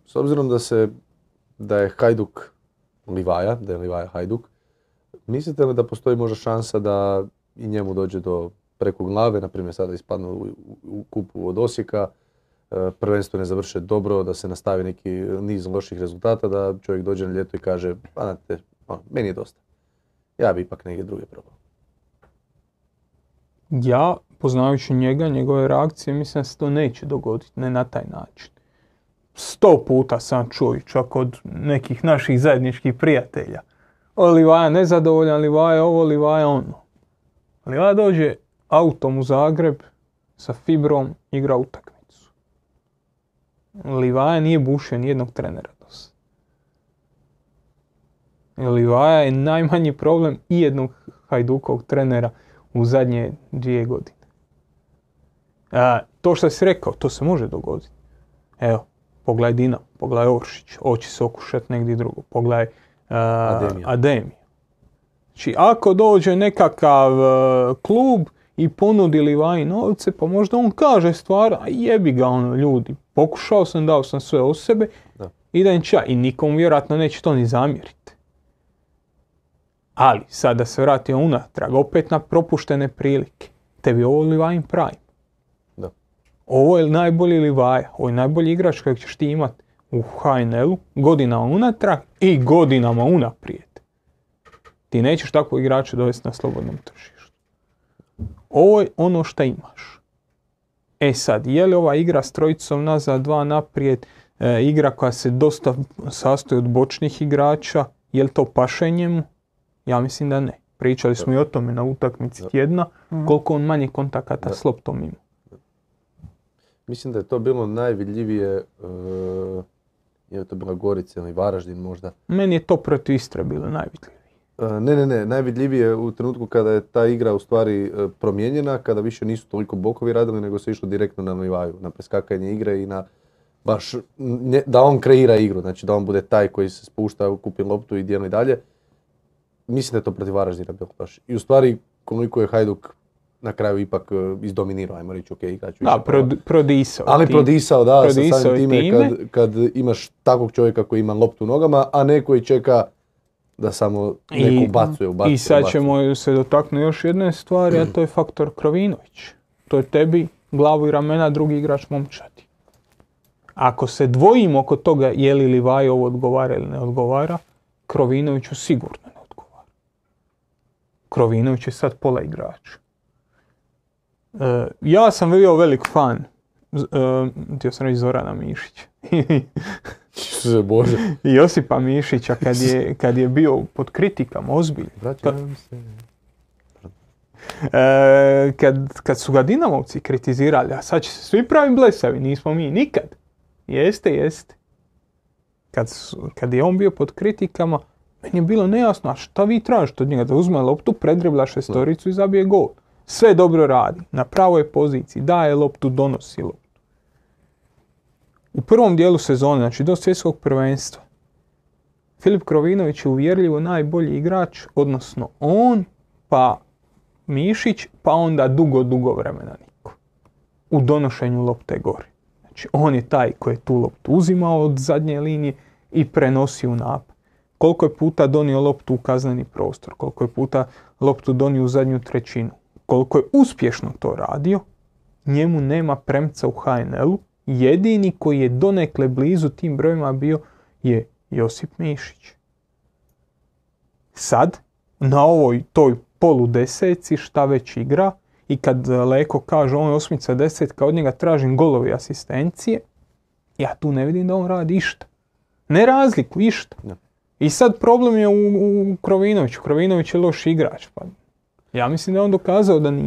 S obzirom da je Hajduk Livaja, da je Livaja Hajduk, mislite li da postoji možda šansa da i njemu dođe do preko glave, na primjer sada ispadnu u kupu od Osijeka, prvenstvo ne završe dobro, da se nastavi neki niz loših rezultata, da čovjek dođe na ljeto i kaže, pa znate, meni je dosta. Ja bi ipak neke druge probao. Ja, poznajući njega, njegove reakcije, mislim da se to neće dogoditi, ne na taj način. 100 puta sam čuo i čak od nekih naših zajedničkih prijatelja. Livaja nezadovoljan, Livaja ovo, Livaja ono. Livaja dođe autom u Zagreb sa fibrom, igra utakmicu. Livaja nije bušio nijednog trenera do sada. Livaja je najmanji problem i jednog Hajdukovog trenera u zadnje 2 godine. To što si rekao, to se može dogoditi. Evo, pogledaj Dinamo, pogledaj Oršić, hoće se okušati negdje drugo, pogledaj Ademija. Znači, ako dođe nekakav klub i ponudi Livaji novce, pa možda on kaže stvar, a jebi ga ono, ljudi, pokušao sam, dao sam sve od sebe, idem ča. I nikom vjerojatno neće to ni zamjeriti. Ali, sad da se vratimo unatrag, opet na propuštene prilike. Tebi ovo Livajin prime. Da. Ovo je najbolji Livaja, ovo je najbolji igrač kojeg ćeš ti imati u HNL-u godinama unatrag i godinama unaprijed. Ti nećeš takvog igrača dovesti na slobodnom tržištu. Ovo je ono što imaš. E sad, je li ova igra s trojicom nazad, 2 naprijed, igra koja se dosta sastoji od bočnih igrača, je li to paše njemu? Ja mislim da ne. Pričali smo i o tome na utakmici tjedna, koliko on manje kontakata s loptom ima. Mislim da je to bilo najvidljivije, je to bila Gorica ili Varaždin možda. Meni je to protiv Istre bilo najvidljivije. Ne, najvidljivije u trenutku kada je ta igra u stvari promijenjena, kada više nisu toliko bokovi radili, nego se išlo direktno na Livaju, na preskakanje igre i na baš da on kreira igru, znači da on bude taj koji se spušta, kupi loptu i dijeli dalje. Mislim da je to protiv Varaždina bilo baš. I u stvari koliko je Hajduk na kraju ipak izdominirao, ajmo reći, ok, igrač više. Da, prodisao. Ali prodisao, da, sa samim time kad imaš takvog čovjeka koji ima loptu u nogama, a ne koji čeka da samo neko ubacuje. I sad ćemo se dotaknuti još jedne stvari, a to je faktor Krovinović. To je tebi glavu i ramena drugi igrač momčadi. Ako se dvojimo oko toga je li Livaj ovo odgovara ili ne odgovara, Krovinoviću sigurno ne odgovara. Krovinović je sad pola igrača. Ja sam bio velik fan, htio sam reći Zorana Mišića. Bože. I Josipa Mišića kad je bio pod kritikama, ozbiljno. Kad su ga Dinamovci kritizirali, a sad će se svi pravi blesavi, nismo mi nikad. Jeste. Kad je on bio pod kritikama, meni je bilo nejasno, a šta vi tražite od njega? Da uzme loptu, predribla šestoricu i zabije gol. Sve dobro radi, na pravoj poziciji, daje loptu, donosi loptu. U prvom dijelu sezone, znači do svjetskog prvenstva, Filip Krovinović je uvjerljivo najbolji igrač, odnosno on, pa Mišić, pa onda dugo vremena niko. U donošenju lopte gore. Znači on je taj koji je tu loptu uzimao od zadnje linije i prenosio u napad. Koliko je puta donio loptu u kazneni prostor, koliko je puta loptu donio u zadnju trećinu. Koliko je uspješno to radio, njemu nema premca u HNL-u. Jedini koji je donekle blizu tim brojima bio je Josip Mišić. Sad, na ovoj toj poludeseci šta već igra i kad Leko kaže on je 8-10, od njega tražim golovi asistencije, ja tu ne vidim da on radi išta. Ne razliku, išta. Ne. I sad problem je u Krovinoviću. Krovinović je loš igrač. Pa ja mislim da je on dokazao da nije.